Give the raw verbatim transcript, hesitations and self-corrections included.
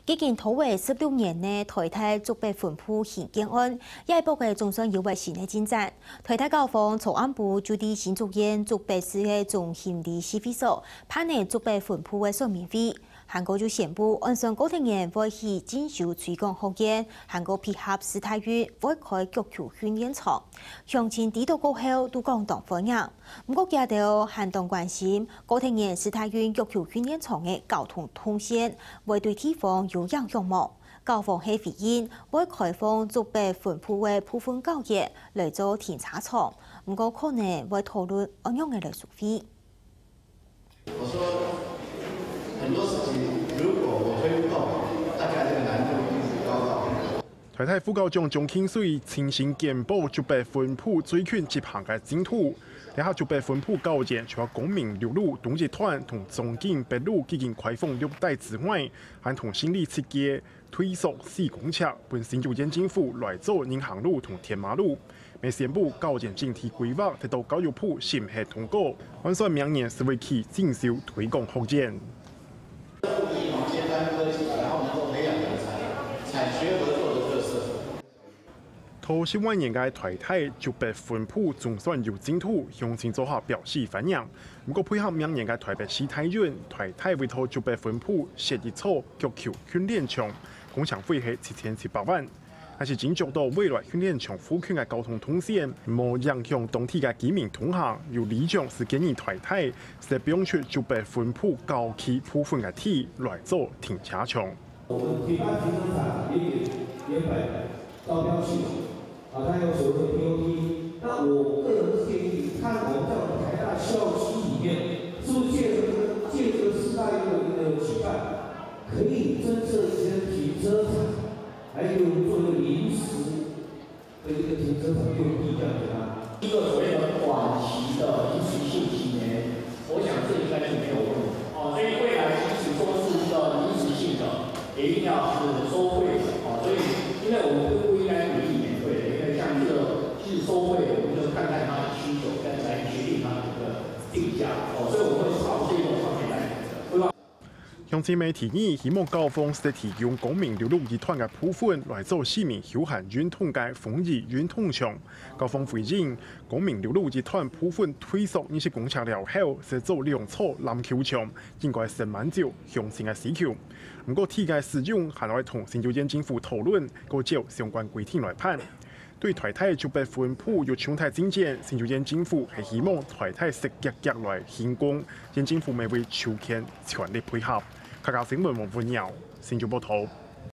已經拖了十六年个臺大竹北分部興建案，這一駁仔總算有了新个進展。臺大校方昨暗晡就在新竹縣竹北市个中興里市會所辦了竹北分部个說明會，還過就宣布，按算過忒年會起進修推廣學院，還過配合世大運會開腳球訓練場。鄉親知著過後都講當歡迎。 毋過，佢兜還當關心，過忒年世大運腳球訓練場个交通動線會對地方有影響無？校方係回應，會開放竹北分部个部分校園來做停車場，毋過可能會討論仰般个來收費。 我說很多事情如果我推不動，大概這個難度一直高到很高。台大副校長張慶水親身簡報竹北分部最近執行个進度。這下竹北分部校園除了光明六路東一段同中興北路已經開放六代之外，還同新里設計 推縮四公尺，分新竹縣政府來做人行路同天馬路。乜宣布校園整體規劃得到教育部審核通過，按算明年四月起進修推廣學院。然後能夠培養人才，產學合作的特色。 頭十萬年个台大竹北分部總算有進度，鄉親做下表示歡迎。毋過配合明年个台北市大運，台大為頭竹北分部設一座腳球訓練場，工程費係七千七百萬。但是斟酌到未來訓練場附近个交通動線，無影響當地个居民通行，有里長就建議台大，設放出竹北分部郊區部分个地來做停車場。 我們提供停車場也給原本招標系統，啊，它有所謂的T O T。那我個人是建議，看我們在我們台大校區裡面，是不是借這個借這個世大運的一個舉辦，可以增設一些停車場，還有做一個臨時的一個停車場用地這樣給他。一個所謂的短期的臨時性青年，我想這應該是沒有問題。哦，所以未來即使說是一個臨時性的，也一定要是收費的。哦，所以因為我們不應該鼓勵免費的，因為像這個是收費的，我們就看看它的需求，再來決定它的一個定價。哦，所以我們會朝這個方面來規劃。 鄉親乜提議，希望校方係提供光明六路一段个部分來做市民休閒運動个風雨運動場。校方回應，光明六路一段部分推縮二十公尺了後，係做兩座籃球場，應該係滿足鄉親个需求。毋過地个使用還愛同新竹縣政府討論，過照相關規定來辦。 對台大竹北分部有重大進展，新竹縣政府係希望台大設遽遽來興工，縣政府乜會抽籤全力配合。客家新聞黃文耀，新竹報導。